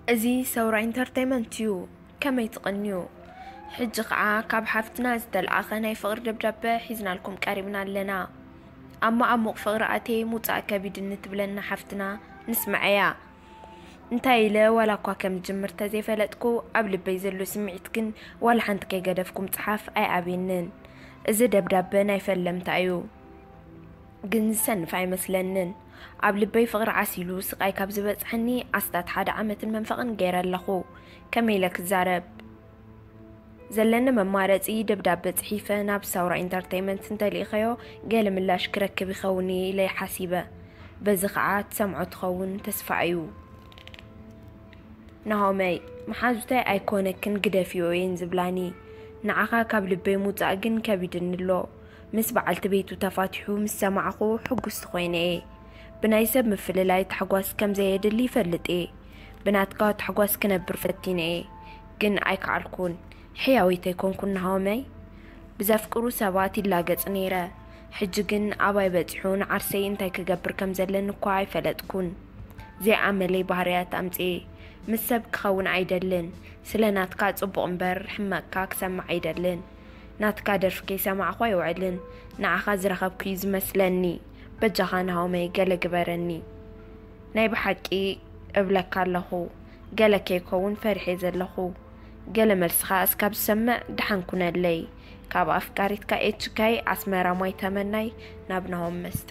እዚ ሰውራ ኢንተርቴይመንት እዩ። ከመይ ትቕንዩ? ሕጂ ኸዓ ካብ ሓፍትና ዝተልኣኸ ናይ ፍቕሪ ደብዳበ ሒዝናልኩም ቀሪብና ኣለና። ኣብ መዓሙቕ ፍቕሪ ኣትየ ምውጻእ ከቢድኒ ትብለና ሓፍትና ንስምዓያ። እንታይ ኢለ ዋላ እኳ ከም ዝጅምር ተዘይፈለጥኩ፣ ኣብ ልበይ ዘሎ ስምዒት ግን ዋላ ሓንቲ ከይገደፍኩ ምጽሓፍ ኣይኣብየንን። እዚ ደብዳበ ናይ ፈለምታ እዩ። ግን ዝሰንፍ ኣይመስለንን። ኣብ ልበይ ፍቕሪ ዓሲሉ ስቓይ ካብ ዝበጽሐኒ ኣስታት ሓደ ዓመትን መንፈቕን ገይረ ኣለኹ። ከመይ ኢለ ክዛረብ? ዘለኒ መማረጺ ደብዳበ ጽሒፈ ናብ ሳውራ ኢንተርቴይመንት እንተልኢኸዮ ገለ ምላሽ ክረክብ ይኸውን ኢለ ሓሲበ። በዚ ኸዓ ትሰምዖ ትኸውን ተስፋ እዩ። ናሆመይ፣ መሓዙተይ ኣይኮነክን ግደፍዮ እየን ዝብላኒ። ንዓኻ ካብ ልበይ ምውጻእ ግን ከቢድኒ ኣሎ። ምስ በዓልቲ ቤቱ ተፋቲሑ ምስ ሰማዕኹ ሕጉስቲ ኮይነ እየ። ብናይ ሰብ ምፍልላይ ታሕጓስ ከም ዘየድሊ ይፈልጥ እየ። ብናትካ ታሕጓስ ክነብር ፈቲነ እየ፣ ግን ኣይከዓልኩን። ሕያዊት ኣይኮንኩን ናሆመይ። ብዘፍቅሩ ሰባት ይላገጽ ነይረ። ሕጂ ግን ኣባይ በጺሑ ንዓርሰይ እንታይ ክገብር ከም ዘለኒ እኳ ኣይፈለጥኩን። ዘይኣመለይ ባህርያት ኣምጽኤ። ምስ ሰብ ክኸውን ኣይደልን። ስለ ናትካ ጽቡቕ እምበር ሕመቕካ ክሰምዕ ኣይደልን። ናትካ ደርፊ ከይሰማዕኹ ኣይውዕልን። ንዓኻ ዝረኸብኩ እዩ ዝመስለኒ። በጃኻ ናሆመይ ገለ ግበረኒ። ናይ ብሓቂ እብለካ ኣለኹ፣ ገለ ከይከውን ፈሪሐ ዘለኹ። ገለ መልስኻ እስካብ ዝሰምዕ ደሓን ኩነለይ። ካብ ኣፍቃሪትካ ኤችካይ ኣስመራ ማይ ተመናይ ናብ ናሆም መስተ።